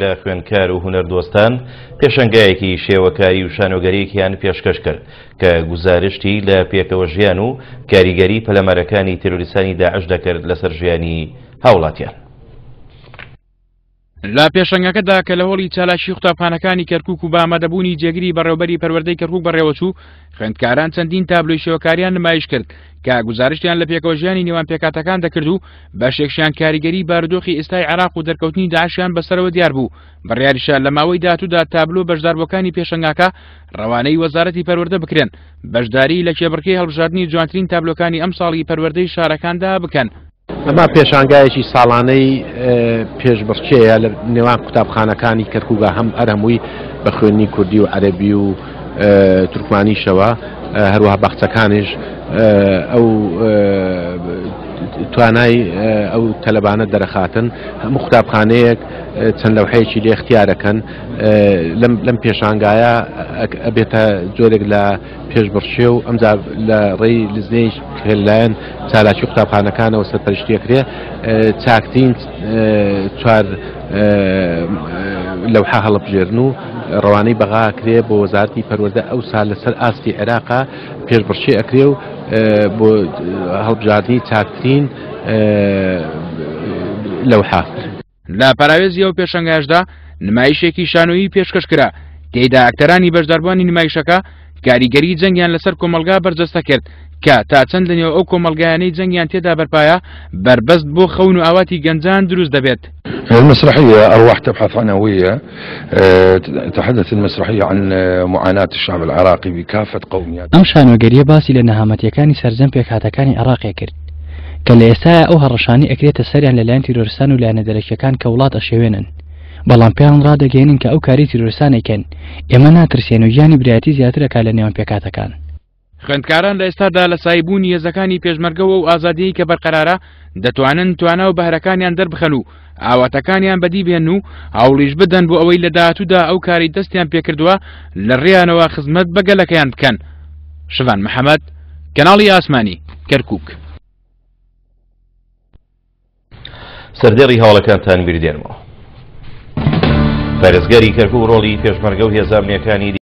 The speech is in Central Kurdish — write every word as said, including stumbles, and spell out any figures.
لە خوێندکار و هونەردۆستان پێشەنگایەکی شێوەکاری و شانۆگەریەکیان پێشکەش کرد کە گوزارشتی لە پێکەوە ژیان و کاریگەری پەلامارەکانی تیرۆریستانی داعش دەکرد لەسەر ژیانی هاوڵاتیان. لە پێشەنگەکەدا کە لە هۆڵی چالاکی قوتابخانەکانی کەرکوک و بە ئامادەبوونی جێگری بەڕێوبەری پەروەردەی کەرکوک بەڕێوەچوو، خوێندکاران چەندین تابلۆی شێوەکاریان نمایش کرد کە گوزارشتیان لە پێکەوە ژیانی نێوان پێکهاتەکان دەکرد و بەشێکشیان کاریگەری بارودۆخی ئێستای عێراق و دەرکەوتنی داعشیان بەسەرەوە دیار بوو. بڕیاریشە لە ماوەی داهاتوودا تابلۆ بەشداربووەکانی پێشەنگاکە ڕەوانەی وەزارەتی پەروەردە بکرێن، بەشداری لە کێبڕکێی هەڵبژاردنی جوانترین تابلۆکانی ئەمساڵی پەروەردەی شارەکاندا بکەن. ئەمە پێشانگایەکی ساڵانەی پێشبڕکێیە لە نێوان قوتابخانەکانی کەرکووکە، هەم ئەرهەمووی بە خوێندنی کوردی و عەرەبی و تورکمانیشەوە، هەروەها باخچەکانیش ئەو توانای ئەو تەلەبانە دەرەخاتن. هەموو قوتابخانەیەک چەند لەوحەیەکی لێ اختیارەکەن. لەم پێشانگایە ئەبێتە جۆرێک لە پێشبڕکێ و ئەمجا لە ڕێی لزنەی لەلایەن چالاکی قوتابخانەکانەوە سەرپەرشتیەکرێ چاکترین چوار لەوحە هەڵبژێرن و ڕەوانەی بەغا ئەکرێ بۆ وەزارەتی پەروەردە. ئەو سال لەسەر ئاستی عێراقا پێشبڕکێ ئەکرێ و بۆ هەڵبژاردنی چاکترین لەوحە. لە پەراوێزی ئەو پێشەنگایشدا نمایشێکی شانۆیی پێشکەش کرا، تێیدا ئەکتەرانی بەشداربووانی نمایشەکە کاریگەری جەنگیان لەسەر کۆمەلگا بەرجەستە کرد کە تا چەند لەنێو ئەو کۆمەلگایانەی جەنگیان تێدا بەرپایە بەربەست بۆ خەون و ئاواتی گەنجان دروست دەبێت. المسرحية أرواح تبحث عن هوية. تحدث المسرحية عن معاناة الشعب العراقي بكافة قومياته. ئەم شانۆگەریە باسی لە نەهامەتیەکانی سەرجەم پێکهاتەکانی عێراقێ کرد کە لە ئێستایا ئەو هەڕەشانەی ئەکرێتە سەریان لەلایەن تیرۆرستان و لایەنە دەرەکیەکان کە وڵات ئەشێوێنن، بەڵام پێیان ڕادەگەێنن کە ئەو کاری تیرۆرستانێکن ئێمە ناترسێن و گیانی برایەتی زیاترەکە لە نێوان پێکهاتەکان. خوێندکاران لە ئێستادا لە سایبوونی هێزەکانی پێشمەرگەوە و ئازادیی کە بەرقەرارە دەتوانن توانا و بەهرەکانیان دەربخەن و ئاواتەکانیان بەدی بێن و هەوڵیش بدەن بۆ ئەوەی لە داهاتوودا ئەو کاری دەستیان پێکردووە لە ڕێیانەوە خزمەت بە گەلەکەیان بکەن. شڤان محەممەد، کەناڵی ئاسمانی، کەرکوک. سەردێڕی هەواڵەکانتان بیردێنمەوە. پارێزگاری کەرکوک ڕۆڵی پێشمەرگە و هێزە ئەمنییەکانی